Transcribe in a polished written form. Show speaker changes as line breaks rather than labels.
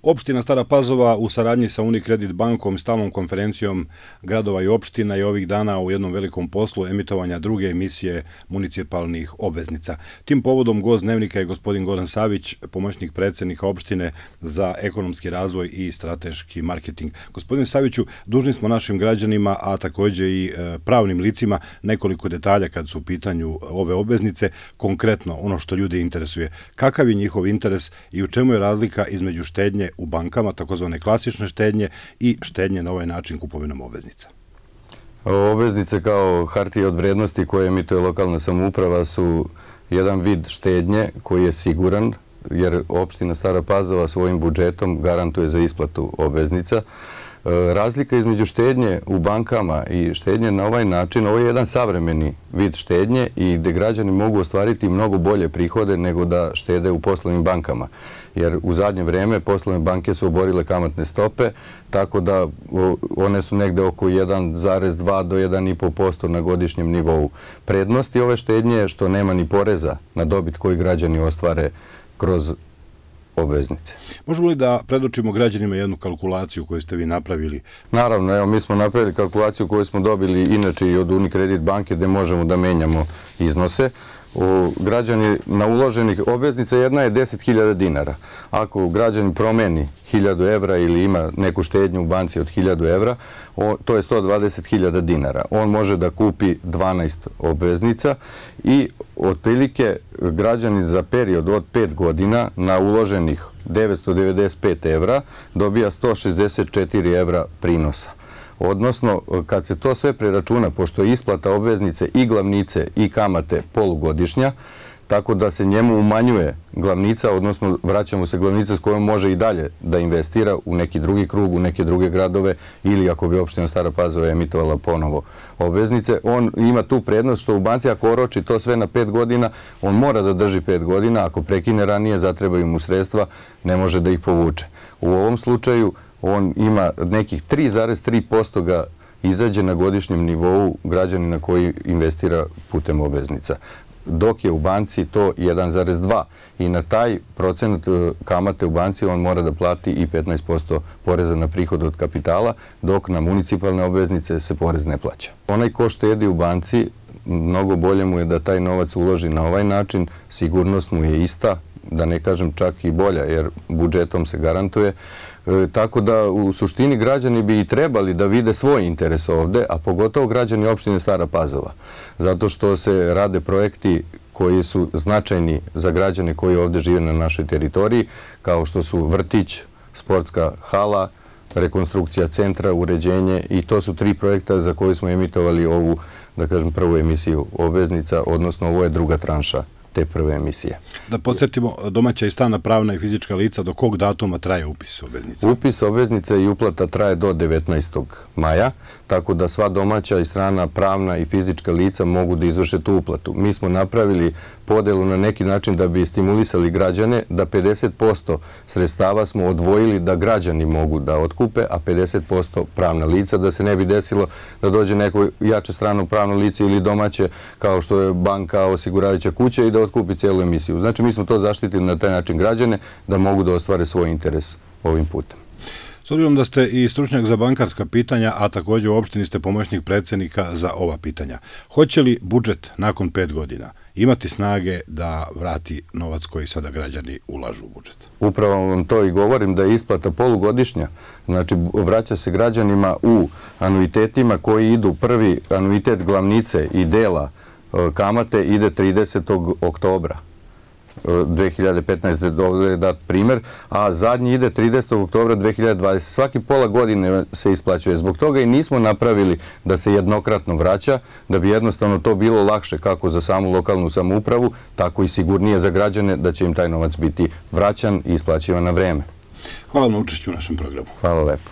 Opština Stara Pazova u saradnji sa Unicredit bankom, stalnom konferencijom gradova i opština je ovih dana u jednom velikom poslu emitovanja druge emisije municipalnih obveznica. Tim povodom gost dnevnika je gospodin Goran Savić, pomoćnik predsjednika opštine za ekonomski razvoj i strateški marketing. Gospodin Saviću, dužni smo našim građanima, a također i pravnim licima, nekoliko detalja kad su u pitanju ove obveznice, konkretno ono što ljude interesuje. Kakav je njihov interes i u čemu je razlika između štednje u bankama, takozvane klasične štednje, i štednje na ovaj način kupovinom obveznica?
Obveznice kao hartije od vrednosti koje emituje lokalna samouprava su jedan vid štednje koji je siguran, jer opština Stara Pazova svojim budžetom garantuje za isplatu obveznica. Razlika između štednje u bankama i štednje na ovaj način, ovo je jedan savremeni vid štednje i gde građani mogu ostvariti mnogo bolje prihode nego da štede u poslovnim bankama. Jer u zadnje vreme poslovne banke su oborile kamatne stope, tako da one su negde oko 1,2 do 1,5% na godišnjem nivou. Prednosti ove štednje je što nema ni poreza na dobit koji građani ostvare kroz obveznice.
Možemo li da predočimo građanima jednu kalkulaciju koju ste vi napravili?
Naravno, evo mi smo napravili kalkulaciju koju smo dobili inače i od Unicredit banke gde možemo da menjamo iznose. Građani na uloženih obveznica jedna je 10.000 dinara. Ako građani promeni 1.000 evra ili ima neku štednju u banci od 1.000 evra, to je 120.000 dinara. On može da kupi 12 obveznica i otprilike građani za period od 5 godina na uloženih 995 evra dobija 164 evra prinosa. Odnosno, kad se to sve preračuna, pošto je isplata obveznice i glavnice i kamate polugodišnja, tako da se njemu umanjuje glavnica, odnosno vraća mu se glavnica s kojom može i dalje da investira u neki drugi krug, u neke druge gradove ili ako bi opština Stara Pazova emitovala ponovo obveznice. On ima tu prednost što u banci ako oroči to sve na 5 godina, on mora da drži 5 godina, ako prekine ranije, zatrebaju mu sredstva, ne može da ih povuče. U ovom slučaju on ima nekih 3,3% ga izađe na godišnjem nivou građanina koji investira putem obveznica. Dok je u banci to 1,2 i na taj procenat kamate u banci on mora da plati i 15% poreza na prihod od kapitala, dok na municipalne obveznice se porez ne plaća. Onaj ko štedi u banci, mnogo bolje mu je da taj novac uloži na ovaj način, sigurnost mu je ista, da ne kažem čak i bolja, jer budžetom se garantuje. Tako da u suštini građani bi i trebali da vide svoj interes ovde, a pogotovo građani opštine Stara Pazova. Zato što se rade projekti koji su značajni za građane koji ovde žive na našoj teritoriji, kao što su vrtić, sportska hala, rekonstrukcija centra, uređenje, i to su 3 projekta za koje smo emitovali ovu, da kažem, prvu emisiju obveznica, odnosno ovo je druga tranša te prve emisije.
Da podsjetimo, domaća i strana pravna i fizička lica, do kog datuma traje upis obveznica?
Upis obveznica i uplata traje do 19. maja, tako da sva domaća i strana pravna i fizička lica mogu da izvrše tu uplatu. Mi smo napravili podelu na neki način da bi stimulisali građane, da 50% sredstava smo odvojili da građani mogu da otkupe, a 50% pravna lica, da se ne bi desilo da dođe neko jače strano pravno lice ili domaće, kao što je banka, osiguravajuća kuća, i da otkupi cijelu emisiju. Znači, mi smo to zaštitili na taj način građane da mogu da ostvare svoj interes ovim putem.
S obzirom da ste i stručnjak za bankarska pitanja, a također u opštini ste pomoćnik predsjednika za ova pitanja, hoće li budžet nakon 5 godina imati snage da vrati novac koji sada građani ulažu u budžet?
Upravo vam to i govorim, da je isplata polugodišnja. Znači, vraća se građanima u anuitetima koji idu. Prvi anuitet glavnice i dela kamate ide 30. oktobra 2015. ovdje je dat primjer, a zadnji ide 30. oktobra 2020. Svaki pola godine se isplaćuje. Zbog toga i nismo napravili da se jednokratno vraća, da bi jednostavno to bilo lakše kako za samu lokalnu samoupravu, tako i sigurnije za građane da će im taj novac biti vraćan i isplaćivan na vreme.
Hvala na učešću u našem programu.
Hvala lepo.